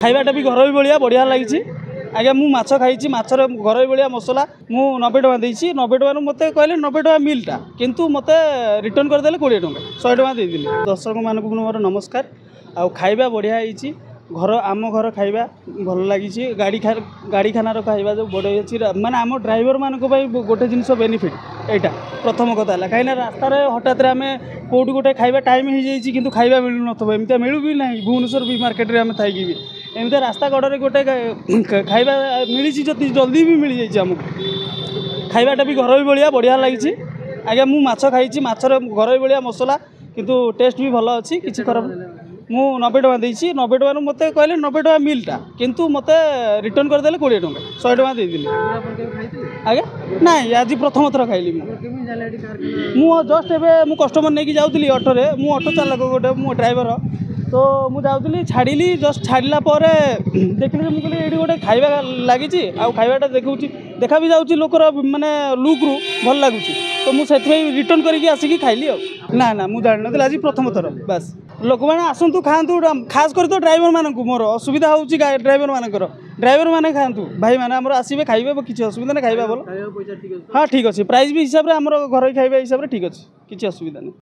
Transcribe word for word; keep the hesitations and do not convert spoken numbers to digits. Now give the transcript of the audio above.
ଖାଇବାଟା ବି ଘରୋଇ ଭଳିଆ ବଢ଼ିଆ ଲାଗିଛି ଆଜ୍ଞା। ମୁଁ ମାଛ ଖାଇଛି, ମାଛର ଘରୋଇ ଭଳିଆ ମସଲା। ମୁଁ ନବେ ଟଙ୍କା ଦେଇଛି। ନବେ ଟଙ୍କାରୁ ମୋତେ କହିଲେ ନବେ ଟଙ୍କା ମିଲ୍ଟା, କିନ୍ତୁ ମୋତେ ରିଟର୍ଣ୍ଣ କରିଦେଲେ କୋଡ଼ିଏ ଟଙ୍କା, ଶହେ ଟଙ୍କା ଦେଇଥିଲି। ଦର୍ଶକମାନଙ୍କୁ ମୋର ନମସ୍କାର। ଆଉ ଖାଇବା ବଢ଼ିଆ ହେଇଛି, ଘର ଆମ ଘର ଖାଇବା ଭଲ ଲାଗିଛି। ଗାଡ଼ି ଗାଡ଼ିଖାନାର ଖାଇବା ଯେଉଁ ବଢ଼ିଆ ଅଛି, ମାନେ ଆମ ଡ୍ରାଇଭରମାନଙ୍କ ପାଇଁ ଗୋଟେ ଜିନିଷ ବେନିଫିଟ୍। ଏଇଟା ପ୍ରଥମ କଥା ହେଲା, କାହିଁକିନା ରାସ୍ତାରେ ହଠାତ୍ରେ ଆମେ କେଉଁଠି ଗୋଟେ ଖାଇବା ଟାଇମ୍ ହେଇଯାଇଛି, କିନ୍ତୁ ଖାଇବା ମିଳୁନଥିବ, ଏମିତିଆ ମିଳୁ ବି ନାହିଁ। ଭୁବନେଶ୍ୱର ବି ମାର୍କେଟରେ ଆମେ ଥାଇକି ବି ଏମିତିଆ ରାସ୍ତା କଡ଼ରେ ଗୋଟେ ଖାଇବା ମିଳିଛି, ଯଦି ଜଲ୍ଦି ବି ମିଳିଯାଇଛି ଆମକୁ। ଖାଇବାଟା ବି ଘରୋଇ ଭଳିଆ ବଢ଼ିଆ ଲାଗିଛି ଆଜ୍ଞା। ମୁଁ ମାଛ ଖାଇଛି, ମାଛର ଘରୋଇ ଭଳିଆ ମସଲା, କିନ୍ତୁ ଟେଷ୍ଟ ବି ଭଲ ଅଛି, କିଛି ଖରାପ। ମୁଁ ନବେ ଟଙ୍କା ଦେଇଛି। ନବେ ଟଙ୍କାରୁ ମୋତେ କହିଲେ ନବେ ଟଙ୍କା ମିଲ୍ଟା, କିନ୍ତୁ ମୋତେ ରିଟର୍ଣ୍ଣ କରିଦେଲେ କୋଡ଼ିଏ ଟଙ୍କା, ଶହେ ଟଙ୍କା ଦେଇଥିଲି ଆଜ୍ଞା। ନାଇଁ, ଆଜି ପ୍ରଥମ ଥର ଖାଇଲି ମୁଁ। ମୁଁ ଜଷ୍ଟ ଏବେ ମୁଁ କଷ୍ଟମର ନେଇକି ଯାଉଥିଲି ଅଟୋରେ। ମୁଁ ଅଟୋ ଚାଳକ ଗୋଟେ, ମୁଁ ଡ୍ରାଇଭର ତ। ମୁଁ ଯାଉଥିଲି, ଛାଡ଼ିଲି, ଜଷ୍ଟ ଛାଡ଼ିଲା ପରେ ଦେଖିଲି ଯେ ମୁଁ କହିଲି ଏଇଠି ଗୋଟେ ଖାଇବା ଲାଗିଛି, ଆଉ ଖାଇବାଟା ଦେଖାଉଛି, ଦେଖା ବି ଯାଉଛି, ଲୋକର ମାନେ ଲୁକ୍ରୁ ଭଲ ଲାଗୁଛି, ତ ମୁଁ ସେଥିପାଇଁ ରିଟର୍ଣ୍ଣ କରିକି ଆସିକି ଖାଇଲି। ଆଉ ନା ନା, ମୁଁ ଜାଣିନଥିଲି, ଆଜି ପ୍ରଥମ ଥର ବାସ୍। ଲୋକମାନେ ଆସନ୍ତୁ, ଖାଆନ୍ତୁ, ଖାସ କରି ତ ଡ୍ରାଇଭରମାନଙ୍କୁ। ମୋର ଅସୁବିଧା ହେଉଛି ଡ୍ରାଇଭରମାନଙ୍କର। ଡ୍ରାଇଭରମାନେ ଖାଆନ୍ତୁ, ଭାଇମାନେ ଆମର ଆସିବେ, ଖାଇବେ, କିଛି ଅସୁବିଧା ନାହିଁ। ଖାଇବା ଭଲ। ହଁ, ଠିକ୍ ଅଛି। ପ୍ରାଇସ୍ ବି ହିସାବରେ, ଆମର ଘରୋଇ ଖାଇବା ହିସାବରେ ଠିକ୍ ଅଛି, କିଛି ଅସୁବିଧା ନାହିଁ।